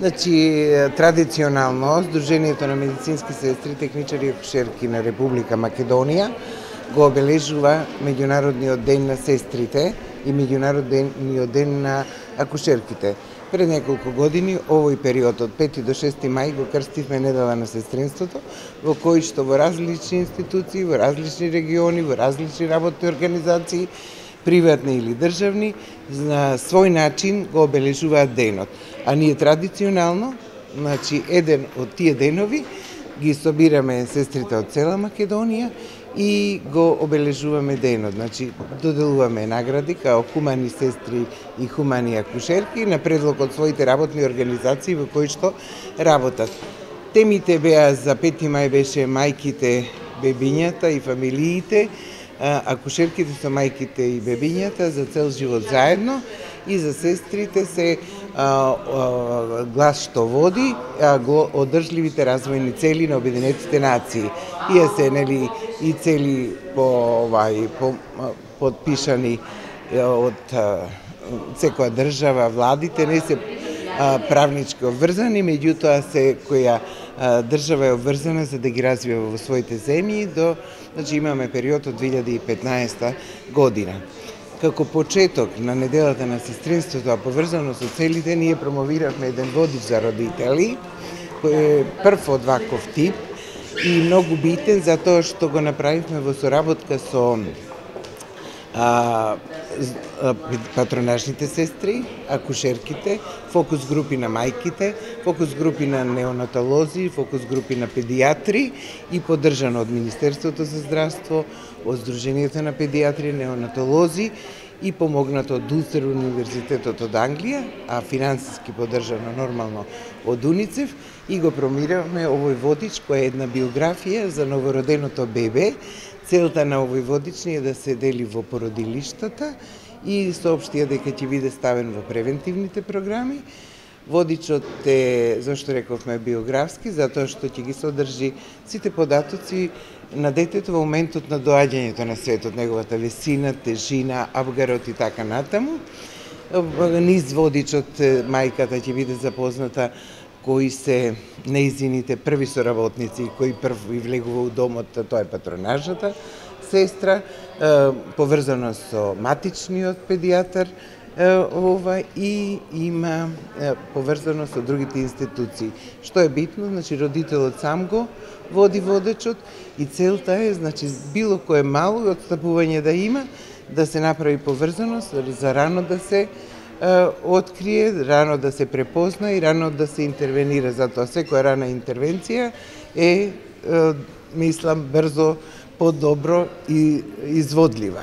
Значи, традиционално, Сдруженијето на медицински сестри, техничари и акушерки на Република Македонија го обележува Меѓународниот ден на сестрите и Меѓународниот ден на акушерките. Пред неколку години, овој период од 5 до 6 мај го крстивме Недела на сестринството, во кој што во различни институции, во различни региони, во различни работни организации, приватни или државни, на свој начин го обележуваат денот. А ние традиционално, значи, еден од тие денови ги собираме сестрите од цела Македонија и го обележуваме денот. Значи, доделуваме награди као хумани сестри и хумани акушерки на предлог од своите работни организации во кои што работат. Темите беа за 5 мај беше мајките, бебињата и фамилиите, акушерките со мајките и бебињата за цел живот заедно, и за сестрите се глас што води, одржливите развојни цели на Обединетите нации. Тие се и цели подпишани од секоја држава, владите не се правнички обврзани, меѓутоа секоја држава е обврзана за да ги развива во своите земји значи имаме период од 2015 година. Како почеток на Неделата на сестринството, а поврзано со целите, ние промовиравме еден водич за родители, кој е прв од ваков тип и многу битен затоа што го направивме во соработка со патронажните сестри, акушерките, фокус групи на мајките, фокус групи на неонатолози, фокус групи на педиатри и поддржано од Министерството за здравство, од Сдруженијето на педиатри, неонатолози и помогнато од Улстер универзитетот од Англија, а финансиски поддржано нормално од УНИЦЕФ, и го промиравме овој водич кој е една биографија за новороденото бебе. Целта на овој водич е да се дели во породилиштата и соопштија дека ќе биде ставен во превентивните програми. Водичот е, зашто рековме, биографски, затоа што ќе ги содржи сите податоци на детето во моментот на доаѓањето на светот, неговата висина, тежина, абгарот и така натаму. Низ водичот мајката ќе биде запозната кои се нејзините први соработници, кои прв и влегува у домот, тоа е патронажната сестра, поврзано со матичниот педијатар, и има поврзано со другите институции. Што е битно, значи родителот сам го води водечот и целта е, значи, било кое мало отстапување да има, да се направи поврзаност, за рано да се открие, рано да се препозна и рано да се интервенира. Затоа секоја рана интервенција е, мислам, брзо, подобро и изводлива.